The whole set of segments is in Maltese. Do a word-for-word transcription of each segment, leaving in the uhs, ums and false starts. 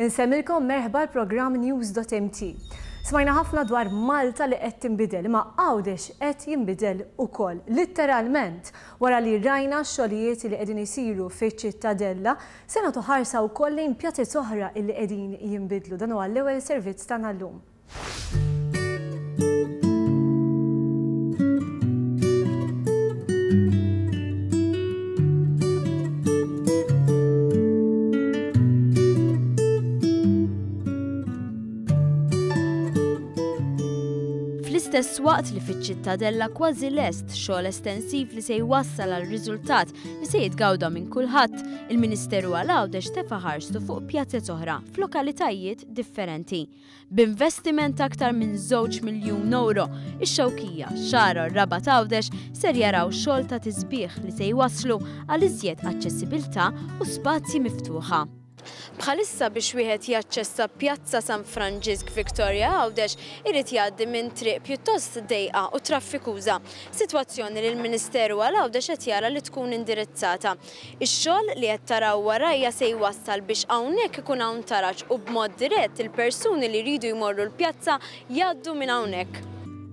Insellmilkom, merħba l-programm News dot M T. Smajna ħafna dwar Malta li qed tinbidel, imma Għawdex qed jinbidel ukoll. Literalment, wara li rajna x-xogħlijiet li qegħdin isiru fiċ-Ċittadella, se nagħtu ħarsa wkoll lejn pjazez oħra illi qegħdin jinbidlu. Dan huwa l-ewwel servizz tagħna llum. Fl-istess waqt li fiċ-Ċittadella kważi lest xogħol estensiv li se jwassal għal riżultat li se jitgawda minn kulħadd, il-Ministeru għal Għawdex tefa' ħarstu fuq pjazez oħra f'lokalitajiet differenti. B'investiment aktar minn żewġ miljun euro, ix-Xewkija, Xagħra u Rabat Għawdex ser jaraw xogħol ta' tisbieħ li se jwasslu għal iżjed aċċessibilità u spazji miftuħa. Bħalissa, biex wieħed jaċċessa Pjazza San Franġisk, Victoria, Għawdex, irid jgħaddi minn triq pjuttost dejqa u traffikuża. Sitwazzjoni li l-Ministeru għal Għawdex qed jara li tkun indirizzata. Ix-xogħol li qed taraw warajja se jwassal biex hawnhekk ikun hawn taraġ u b'mod dirett il-persuni li jridu jmorru l-pjazza jgħaddu minn hawnhekk.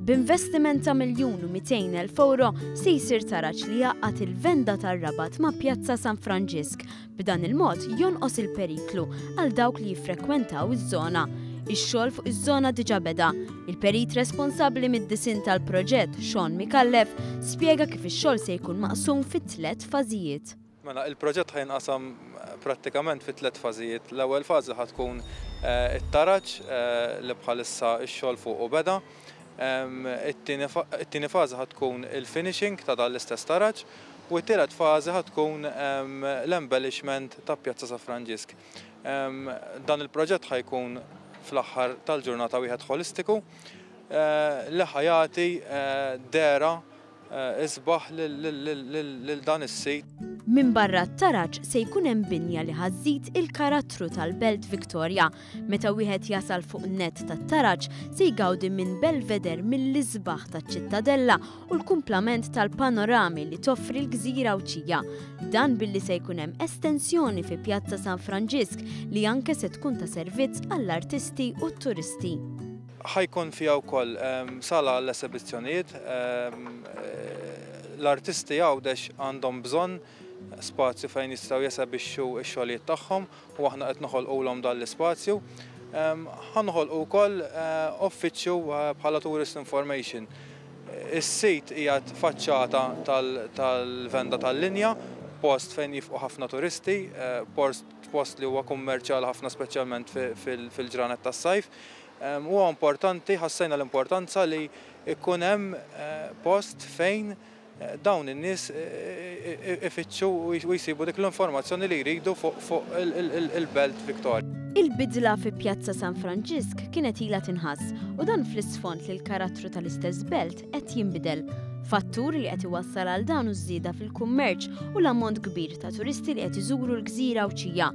B'investiment ta' miljun u mitejn elf euro se jsir taraġ li jgħaqqad il-venda tar-Rabat ma' Pjazza San Franġisk. B'dan il-mod jonqos il-periklu għal dawk li jiffrekwentaw iż-żona. Ix-xogħol fuq iż-żona diġà beda. Il-perit responsabbli mid-disinn tal-proġett, Sean Mikallef, spjega kif ix-xogħol se jkun maqsum fit tliet fażijiet. Mela, il-proġett ħa jinqasam prattikament fi tliet fażijiet. L-ewwel fażi ħa tkun eh, it-taraġ eh, li bħalissa x-xogħol fuq u beda. It-tieni fażi ħa tkun il-finishing ta' dan l-istess taraġ u t-tielet fażi ħa tkun l-embellishment ta' Pjazza San Franġisk. Dan il-proġett ħa jkun fl-aħħar tal-ġurnata wieħed holistiku eh, li ħa jagħti dehra isbaħ lil dan is-sit. Min barra t-taraġ se jkun hemm binja li ħa żżid il-karattru tal-Belt Victoria. Meta wieħed jasal fuq nett tat-taraġ se jgawdi minn belveder mill-isbaħ taċ-Ċittadella u l-kumplament tal-panorami li toffri l-gżira Għawdxija. Dan billi se jkun hemm estensjoni fi Pjazza San Franġisk li anke se tkun ta' servizz għall-artisti u t-turisti. Ħa jkun fiha wkoll sala għall-esebizzjonijiet. L-artisti Għawdex għandhom bżonn spazju fejn jistgħu jesebixxu x-xogħlijiet tagħhom u aħna qed noħolqulhom dan l-ispazju. Ħa noħolqu wkoll uffiċċju bħala tourist information. Is-sit qiegħed faċċata tal-venda tal-linja, post fejn jieqfu ħafna turisti, post li huwa kummerċjali ħafna, speċjalment fil-ġranet tas-sajf. Huwa importanti, ħassejna l-importanza li ikun hemm post fejn dawn in-nies ifittxu u jsibu dik l-informazzjoni li jridu fuq il-Belt Victoria. Il-bidla fi Pjazza San Franġisk kienet ilha tinħass u dan fl-isfond li l-karattru tal-istess belt qed jinbidel. Fattur li qed iwassal għal dan u żieda fil-kummerċ u l-ammont kbir ta' turisti li qed iżuru l-gżira Għawdxija.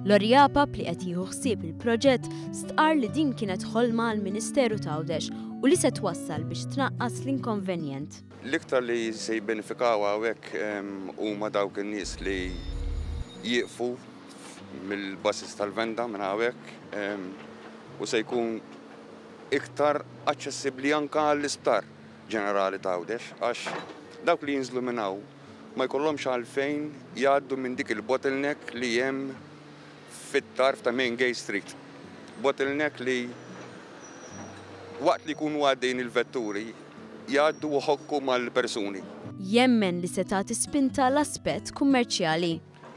Lorry Apap, li qed jieħu ħsieb il-proġett, stqar li din kienet ħolma għall-Ministeru t'Għawdex u li se twassal biex tnaqqas l-inkonvenjent. L-iktar li se jibbenefikaw hawnhekk huma dawk in-nies li jieqfu mill-buses tal-venda minn hawnhekk u se jkun iktar aċċessibbli anke għall-Isptar Ġenerali ta' Għawdex, għax dawk li jinżlu minn hawn ma jkollhomx għalfejn jgħaddu minn dik il-bottleneck li hemm fit-tarf ta' Main Gate Street. Bottleneck li waqt li jkunu għaddejn il-vetturi jgħaddu u jħokku mal-persuni. Jemmen li se tagħti spinta l-aspett kummerċjali.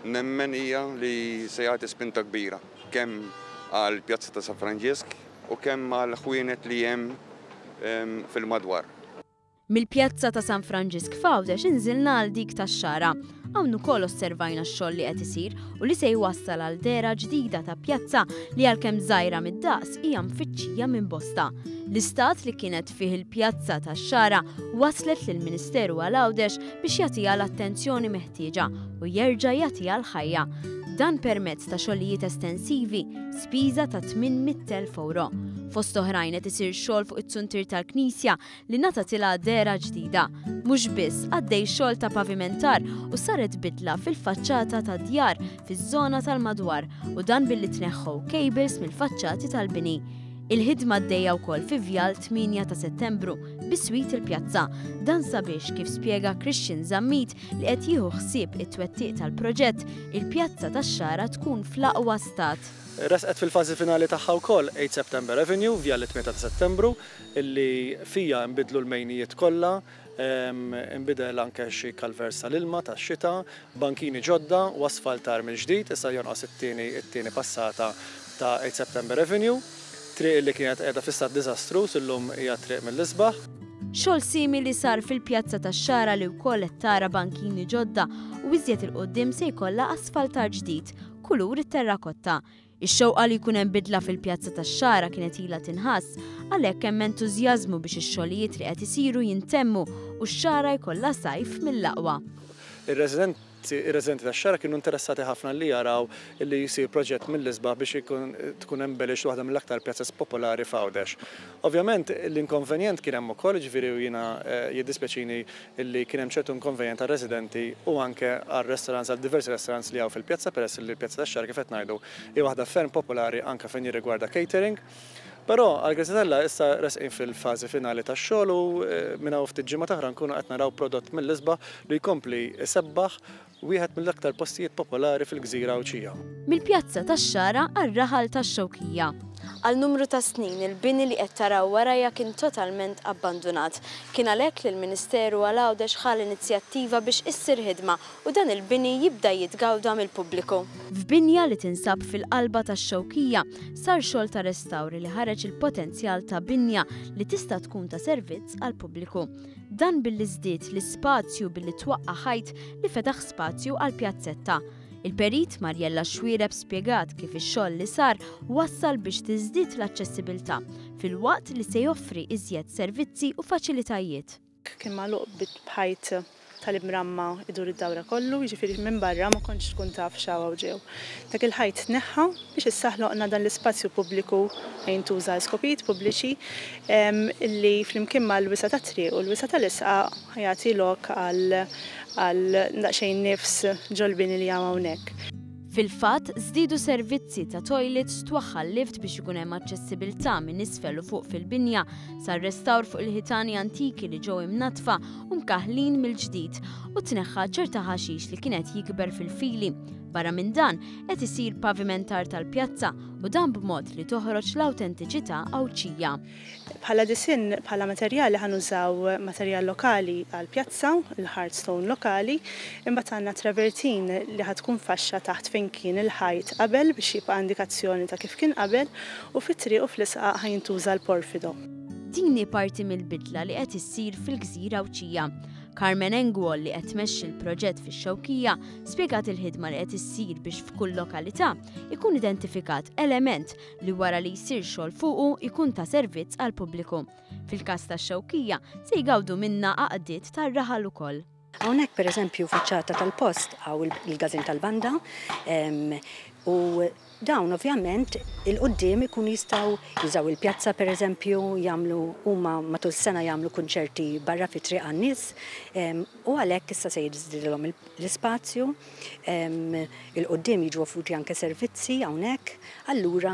Nemmen hija li se jagħti spinta kbira kemm għal Pjazza ta' San Franġisk u kemm għal ħwienet li hemm fil-madwar. Mill-Pjazza ta' San Franġisk f'Għawdex inżilna għal dik tax-Xagħra. Hawn ukoll osservajna x-xogħol li qed isir u li se jwassal għal dehra ġdida ta' pjazza li, għalkemm żgħira mid-daqs, hija mfittxija minn bosta. L-istat li kienet fih il-Pjazza tax-Xagħra waslet lill-Ministeru għal Għawdex biex jagħtiha l-attenzjoni meħtieġa u jerġa' jagħtiha l-ħajja. Dan permezz ta' xogħlijiet estensivi, spiża ta' tmien mitt elf euro. Fost oħrajn qed isir xogħol fuq it-suntir tal-Knisja li ngħatatilha dehra ġdida. Mhux biss għaddej xogħol ta' pavimentar u saret bidla fil-faċċata ta' djar fiż-żona tal-madwar u dan billi tneħħu cables mill-faċċati tal-bini. Il-ħidma għaddejja wkoll fi Vjal tmienja ta' Settembru biswit il-pjazza. Dan sabiex kif spjega Christian Zammit li qed jieħu ħsieb it-twettiq tal-proġett, il-pjazza tax-Xagħra tkun fl-aqwa stat. Resqet fil-fażi finali tagħha wkoll eight September Avenue, Vjal tmienja ta' Settembru, illi fija nbidlu l-mejnijiet kollha, nbidel anke xi kalvers tal-ilma tax-xita, bankini ġodda u asfaltar mill-ġdid, issa jonqos it-tieni it-tieni passata ta' eight September Avenue. Triq li kienet qiegħda fi stat diżastruż illum hija triq mill-isbaħ. Xogħol simili sar fil-pjazza tax-Xagħra li wkoll qed tara bankini ġodda u iżjed il-qudiem se jkollha asfaltar ġdid, kulur it-terrakotta. Ix-xewqa li jkun hemm bidla fil-pjazza tax-Xagħra kienet ilha tinħass, għalhekk hemm entużjażmu biex ix-xogħlijiet li qed isiru jintemmu u x-Xagħra jkollha sajf mill-aqwa. Ir-residenti Ir-residenti tax-Xagħra kienu interessati ħafna li jaraw li jsir proġett mill-isbaħ biex ikun tkun embellished waħda mill-aktar pjazzas popolari f'Għawdex. Ovvjament l-inkonvenjent kien hemm ukoll, jiġifieri jiena jiddispjaċini li kien hemm ċertu inkonvenjent għar-residenti u anke għar-restaurants, għal diversi restaurants li hawn fil-pjazza, peress li l-pjazza tax-Xagħra kif qed ngħidu hi waħda ferm popolari anke fejn jirrigwarda catering. Però għal-grazzja t'Alla issa resqin fil-fażi finali tax-xogħol u minn hawn ftit ġimgħa oħra nkunu qed naraw prodott mill-isbaħ li jkompli isebbaħ wieħed mill-aktar postijiet popolari fil-gżira Għawdxija. Mill-pjazza tax-Xagħra għar-raħal tax-Xewkija. Għal numru ta' snin il-bini li qed taraw warajja kien totalment abbandunat. Kien għalhekk li l-Ministeru għal Għawdex ħa l-inizjattiva biex issir ħidma u dan il-bini jibda jitgawda mill-pubbliku. F'binja li tinsab fil-qalba tax-Xewkija sar xogħol ta' restawri li ħareġ il-potenzjal ta' binja li tista' tkun ta' servizz għall-pubbliku. Dan billi żdied l-ispazju billi twaqqa' ħajt li fetaħ spazju għal pjazzetta. Il-perit Mariella Xuereb spjegat kif ix-xogħol li sar wassal biex tiżdied l-aċċessibilità filwaqt li se joffri iżjed servizzi u faċilitajiet. Kien magħluq b'ħajt tal-imramma idur id-dawra kollu, jiġifieri minn barra ma kontx tkun taf x'hawn ġew. Dak il-ħajt tneħħa biex issa ħloqna dan l-ispazju pubbliku fejn jintuża għal skopijiet pubbliċi li flimkien mal-wisa tat-triq u l-wisa tal-isqa jagħti lok għal għal daqsxejn nifs ġol-bini li hawn hawnhekk. Fil-fatt, żdiedu servizzi ta' toilets, twaħħal lift biex ikun hemm aċċessibilità minn isfel u fuq fil-binja, sar restawr fuq il-ħitani antiki li ġew imnatfa u mkaħlin mill-ġdid u tneħħa ċerta ħaxix li kienet jikber fil-fili. Barra minn dan, qed isir pavimentar tal-pjazza u dan b'mod li toħroġ l-awtentiċità Għawdxija. Bħala disinn, bħala materjali ħanużaw materjal lokali għall-pjazza, il-hardstone lokali, imbagħad għandna travertin li ħatkun faxxa taħt fejn kien il-ħajt qabel biex jibqa' indikazzjoni ta' kif kien qabel u fit-triq u fl-isqaq ħajintuża l-porfido. Din hi parti mill-bidla li qed issir fil-gżira Għawdxija. Carmen Engwall li qed tmexxi l-proġett fix-Xewkija spjegat il-ħidma li qed issir biex f'kull lokalità ikun identifikat element li wara li jsir xogħol fuqu ikun ta' servizz għall-pubbliku. Fil-każ tax-Xewkija se jgawdu minna għaqdiet tar-raħal ukoll. Hawnhekk pereżempju faċċata tal-post hawn il-gazin tal-banda u dawn ovvjament il-qudiem ikun jistgħu jużaw il-pjazza pereżempju, jagħmlu huma matul sena jagħmlu kunċerti barra fit-triq għan-nies u għalhekk issa se jiżdidilhom l-ispazju, il-qudiem jiġu offruti anke servizzi hawnhekk, allura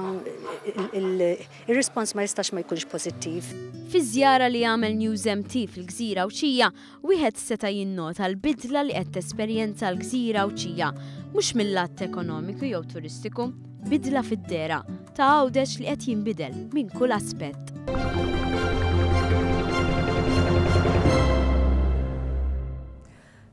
ir-rispons ma jistax ma jkunx pożittiv. Fi żjara li għamel News M T fil-Gżira Għawdxija, wieħed seta' jinnota l-bidla li qed tesperjenza l-Gżira Għawdxija, mhux mill-lat ekonomiku jew turistiku, bidla fid-dehra ta' Għawdex li qed jinbidel minn kull aspett.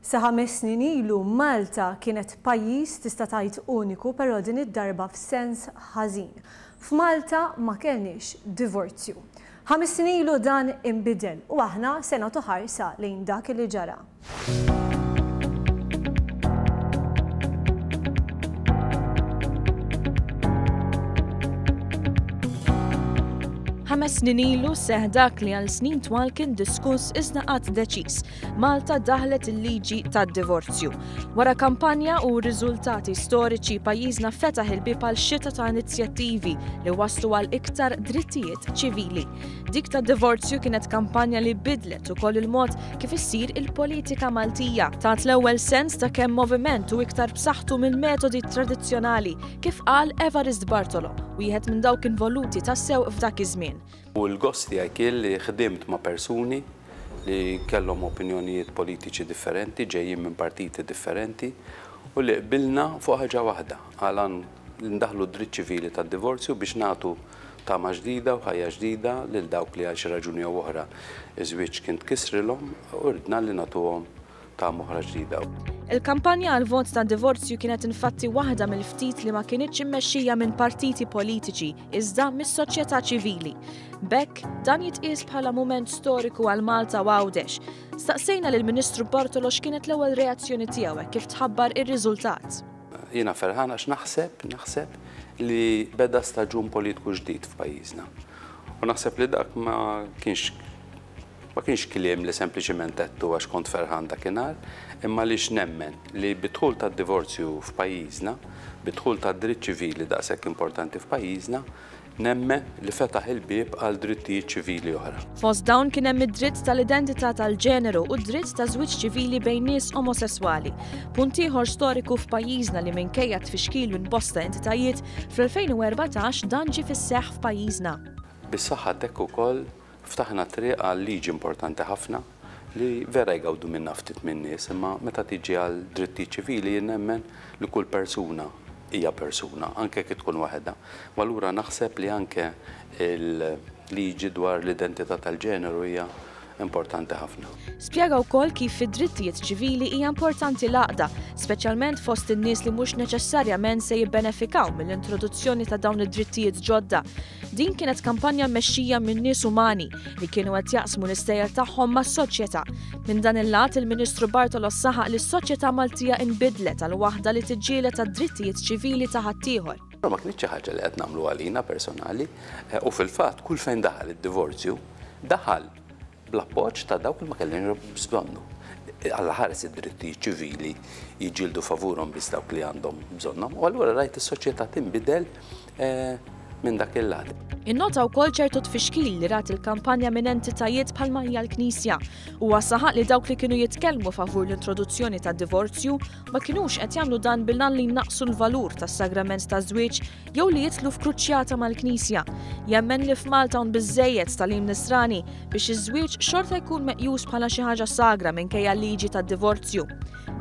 Sa ħames snin ilu Malta kienet pajjiż tista' tgħid uniku, però din id-darba f'sens ħażin. F'Malta ma kellniex divorzju. Ħames snin ilu dan inbidel u aħna se nagħtu ħarsa lejn dak li ġara. Ħames snin ilu seħ dak li għal snin twal kien diskuss iżda qatt deċiż. Malta daħlet il-liġi tad-divorzju. Wara kampanja u riżultati storiċi, pajjiżna fetaħ il-bieb għal xita ta' inizjattivi li waslu għal iktar drittijiet ċivili. Dik tad-divorzju kienet kampanja li bidlet ukoll il-mod kif issir il-politika Maltija. Tat l-ewwel sens ta' kemm moviment u iktar b'saħħtu mill-metodi tradizzjonali, kif qal Evarist Bartolo, wieħed minn dawk involuti tassew f'dak iż-żmien. U l-gost tiegħi kien li ħdimt ma' persuni li kellhom opinjonijiet politiċi differenti, ġejjin minn partiti differenti, u li qbilna fuq ħaġa waħda, għalan ndaħlu dritt ċivili tad-divorzju biex nagħtu tama ġdida u ħajja ġdida lil dawk li għal xi raġuni jew oħra iż-żwieġ kien tkissrilhom u ridna li nagħtuhom tama oħra ġdida. Il-kampanja għal vot ta' divorzju kienet infatti waħda mill-ftit li ma kienitx immexxija minn partiti politiċi iżda mis-soċjetà ċivili. B'hekk dan jitqies bħala mument storiku għal Malta u Għawdex. Staqsejna lill-Ministru Bartolo x'kienet l-ewwel reazzjoni tiegħu kif tħabbar ir-riżultat. Jiena ferħan għax naħseb, naħseb li beda staġun politiku ġdid f'pajjiżna. U naħseb li dak ma kienx ma kienx kliem li sempliċiment għedtu għax kont ferħan dakinhar, imma li nemmen li bidħul tad-divorzju f'pajjiżna, bidħul tad-dritt ċivili daqshekk importanti f'pajjiżna, nemmen li fetaħ il-bieb għal drittijiet ċivili oħra. Fost dawn kien hemm id-dritt tal-identità tal-ġeneru u d-dritt ta' żwieġ ċivili bejn nies omosesswali. Punt ieħor storiku f'pajjiżna li minkejja tfixkil minn bosta entitajiet, fl-elfejn u erbatax dan ġie fis-seħħ f'pajjiżna. Bis-saħħa t'hekk ukoll ftaħna triq għal liġi importanti ħafna li vera jgawdu minna ftit minn nies, imma meta tiġi għal drittijiet ċivili jien nemmen li kull persuna hija persuna, anke kif tkun waħedha. U allura naħseb li anke il-liġi dwar l-identità tal-ġeneru hija importanti ħafna. Spjega wkoll kif fid-drittijiet ċivili hija importanti l-għaqda, speċjalment fost in-nies li mhux neċessarjament se jibbenefikaw mill-introduzzjoni ta' dawn id-drittijiet ġodda. Din kienet kampanja mmexxija minn nies umani li kienu qed jaqsmu l-istejjer tagħhom mas-soċjetà. Minn dan il-lat il-Ministru Bartolo saħaq li s-soċjetà Maltija inbidlet għal waħda li tiġġieled għad-drittijiet ċivili ta' ħaddieħor. Ma kienx xi ħaġa li qed nagħmlu għalina personali, u fil-fatt kull fejn daħal id-divorzju daħal bl-appoġġ ta' dawk li ma kellhom bżonnu. Alla ħares id-drittijiet ċivili jiġġieldu favurhom biss dawk li għandhom bżonnhom, u allura rajt is-soċjetà tinbidel minn dak il-lat. Innota wkoll ċertu tfixkil li rat il-kampanja minn entitajiet bħalma hija l-Knisja. Huwa saħaq li dawk li kienu jitkellmu favur l-introduzzjoni tad-divorzju ma kinux qed jagħmlu dan bil-għan li jnaqqsu l-valur tas-sagrament taż-żwieġ jew li jitlu f'kruċjata mal-Knisja. Jemmen li f'Malta hawn biżżejjed tagħlim nisrani biex iż-żwieġ xorta jkun meqjus bħala xi ħaġa sagra minkejja l-liġi tad-divorzju.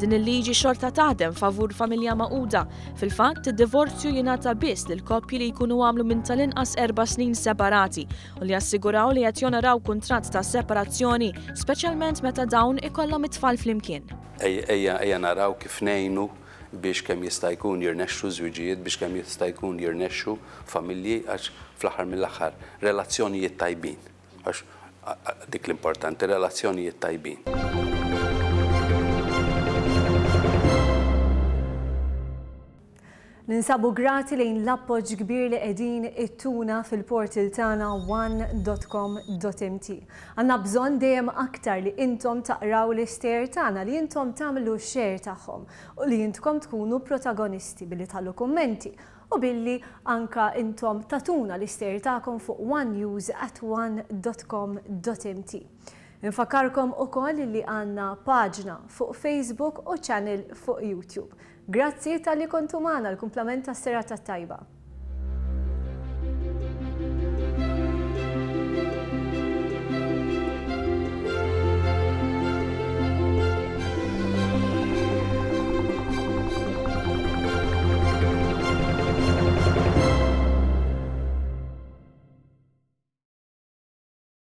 Din il-liġi xorta taħdem favur familja magħquda. Fil-fatt, id-divorzju jingħata biss lil koppji li jkunu għamlu minn tal-inqas erba' snin separati u li jassiguraw li qed jonoraw kuntratt ta' separazzjoni, speċjalment meta dawn ikollhom it-tfal flimkien. Ejja, ejja naraw kif ngħinu biex kemm jista' jkun jirnexxu żwiġijiet, biex kemm jista' jkun jirnexxu familji, għax fl-aħħar mill-aħħar relazzjonijiet tajbin, għax dik l-importanti, relazzjonijiet tajbin. Ninsabu grati lejn l-appoġġ kbir li qegħdin ittuna fil-portal tagħna one dot com dot M T. Għandna bżonn dejjem aktar li intom taqraw l-istejjer tagħna, li intom tagħmlu share tagħhom u li intkom tkunu protagonisti billi tħallu kummenti u billi anka intom tatuna l-istejjer tagħkom fuq one news at one dot com dot M T. Nfakkarkom ukoll li għandna paġna fuq Facebook u channel fuq YouTube. Grazzi tal-li kontu magħna l-kumplament tas-serata tajba.